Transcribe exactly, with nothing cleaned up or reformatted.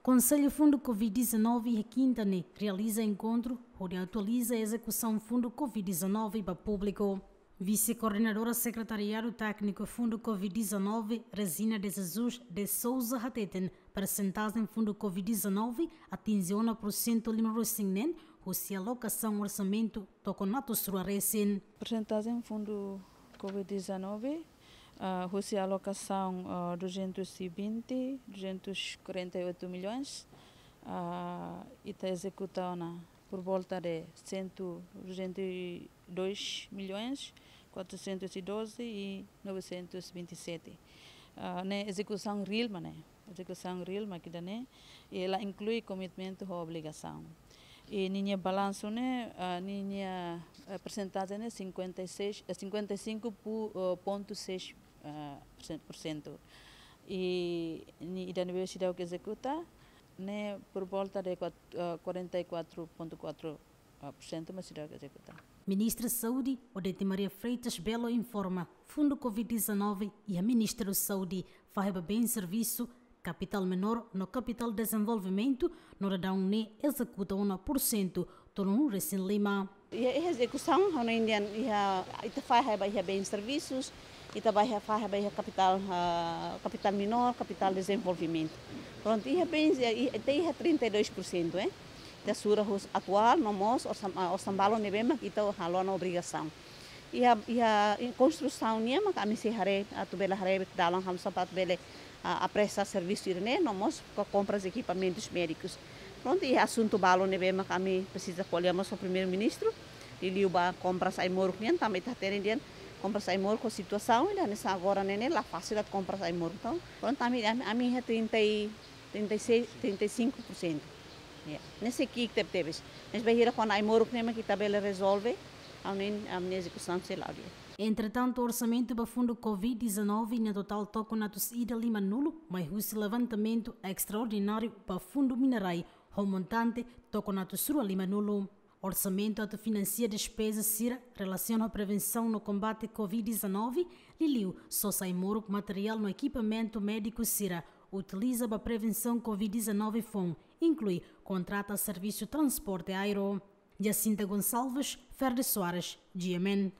Konsellu Fundu Covid dezanove iha kinta ne'e realiza enkontru hodi atualiza ezekusaun Fundu Covid dezanove ba públiku. Vise-Koordenadora Sekretariadu Tékniku Fundu Covid dezanove, Resina de Jesus de Souza, hateten persentajen Fundu Covid dezanove atinje ona porsentu lima resin neen husi alokasaun orsamentu tokon atus rua resin. Persentajen Fundu Covid dezanove, ah, husi alokasaun, ah, duzentos e vinte, duzentos e quarenta e oito milhões, ah, ita ezekuta ona por volta de cento, duzentos e dois milhões, quatrocentos e doze e novecentos e vinte e sete. Ah, ne'e ezekusaun reál mak ne'e, ezekusaun reál mak ida-ne'e, i la inklui komitmentu ho obrigasaun. I ninia balansu ne'e, ah, ninia, eh, persentajen ne'e cinquenta e seis, eh, cinquenta e cinco pu-, eh, ponto seis, eh, por cento. I nia ida ne'ebé seidauk ezekuta ne'e por volta de quat-, eh, quarenta e quatro ponto quatro, eh, por cento mak seidauk ezekuta. Ministra Saúde, Odete Maria Freitas Belo, informa Fundu Covid dezanove iha Ministériu Saúde fahe ba bens servisu, kapitál menór no kapitál dezenvolvimentu, no daudaun ne'e ezekuta ona porsentu tolunulu resin lima. Iha, iha ezekusaun, ha'u hanoin dehan iha, ita fahe ba iha bens servisus, ita ba iha fahe ba iha kapitál, ah, kapitál menór, kapitál dezenvolvimentu. Prontu, iha bens, iha, iha, ita iha trinta e dois por cento, eh. Ita sura husi atuál, no mós orsam-, ah, orsamentu balun ne'ebé mak ita halo ona obrigasaun. Iha, iha konstrusaun nian mak ami sei haree, atu bele haree dalan hamutuk atu bele, ah, apresa servisu ida-ne'e, no mós ho kompras ekipamentus médikus. Prontu, iha asuntu balun ne'ebé mak ami presiza ko'alia mós ho Primeiru-Ministru, liuliu ba kompras ai-moruk nian, tanba ita hatene dehan kompras ai-moruk ho situasaun ida hanesan agora ne'e ne'e la fasil atu kompras ai-moruk. Entaun, prontu, ami, ami, ami iha trinta e, trinta e seis, trinta e cinco por cento. Ya, ne'e sei ki'ik tebetebes. Mas bainhira kona ai-moruk ne'e mak ita bele rezolve, ha'u hanoin ami-nia ezekusaun sei la'o di'ak. Entretantu, orsamentu ba Fundu Covid dezanove nia totál tokon atus ida limanulu, mai husi levantamentu estraordináriu ba Fundu Minerai, ho montante tokon atus rua limanulu. Orsamentu atu finansia despeza sira relasiona ho prevensaun no kombate Covid dezanove, liuliu sosa ai-moruk, materiál no ekipamentu médiku sira utiliza ba prevensaun Covid dezanove foun, inklui kontrata servisu transporte aéreu. Jacinta Gonçalves, Ferde Soares, G M N.